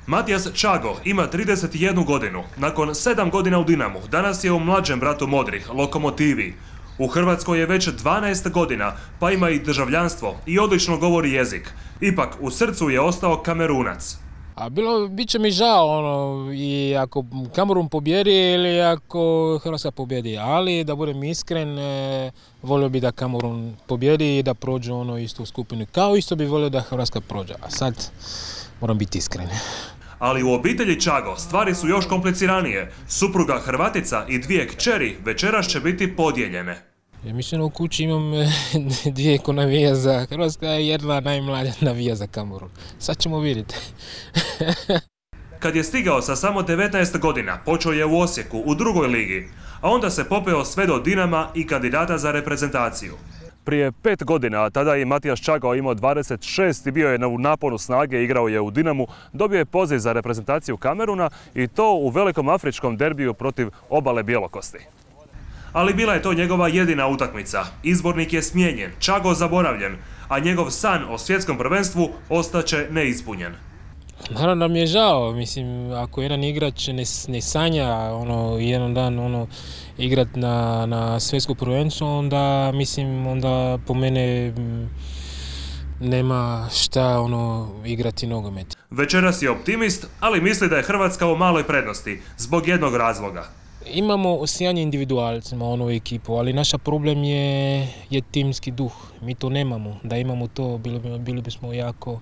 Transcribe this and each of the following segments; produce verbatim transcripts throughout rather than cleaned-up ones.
Matijas Čago ima trideset jednu godinu. Nakon sedam godina u Dinamu, danas je u mlađem bratu Modrih, Lokomotivi. U Hrvatskoj je već dvanaest godina, pa ima i državljanstvo i odlično govori jezik. Ipak, u srcu je ostao Kamerunac. A bilo, bit će mi žao ono, i ako Kamerun pobjedi ili ako Hrvatska pobjedi, ali da budem iskren, e, volio bi da Kamerun pobjedi i da prođe ono istu skupinu, kao isto bi volio da Hrvatska prođe, a sad moram biti iskren. Ali u obitelji Čago stvari su još kompliciranije. Supruga Hrvatica i dvije kćeri večeras će biti podijeljene. Ja mislim u kući imam dvije ko navija za Hrvatska, jedna najmlađa navija za Kamerun. Sad ćemo vidjeti. Kad je stigao sa samo devetnaest godina, počeo je u Osijeku u drugoj ligi, a onda se popeo sve do Dinama i kandidata za reprezentaciju. Prije pet godina, tada je Matijas Čago imao dvadeset šest i bio je u naponu snage, igrao je u Dinamu, dobio je poziv za reprezentaciju Kameruna i to u velikom afričkom derbiju protiv Obale Bjelokosti. Ali bila je to njegova jedina utakmica. Izbornik je smijenjen, Čago zaboravljen, a njegov san o svjetskom prvenstvu ostaće neispunjen. Naravno da mi je žao, mislim, ako jedan igrač ne, ne sanja ono, jedan dan ono, igrat na, na svjetsko prvenstvo, onda mislim, onda po mene m, nema šta ono, igrati nogomet. Večeras je optimist, ali misli da je Hrvatska u maloj prednosti, zbog jednog razloga. Imamo sjajne individualce u onu ekipu, ali naš problem je, je timski duh. Mi to nemamo. Da imamo to, bili, bili bismo jako,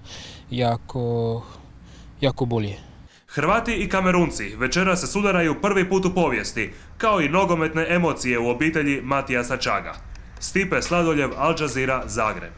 jako, jako bolje. Hrvati i Kamerunci večeras se sudaraju prvi put u povijesti, kao i nogometne emocije u obitelji Matijasa Čaga. Stipe Sladoljev, Al Jazeera, Zagreb.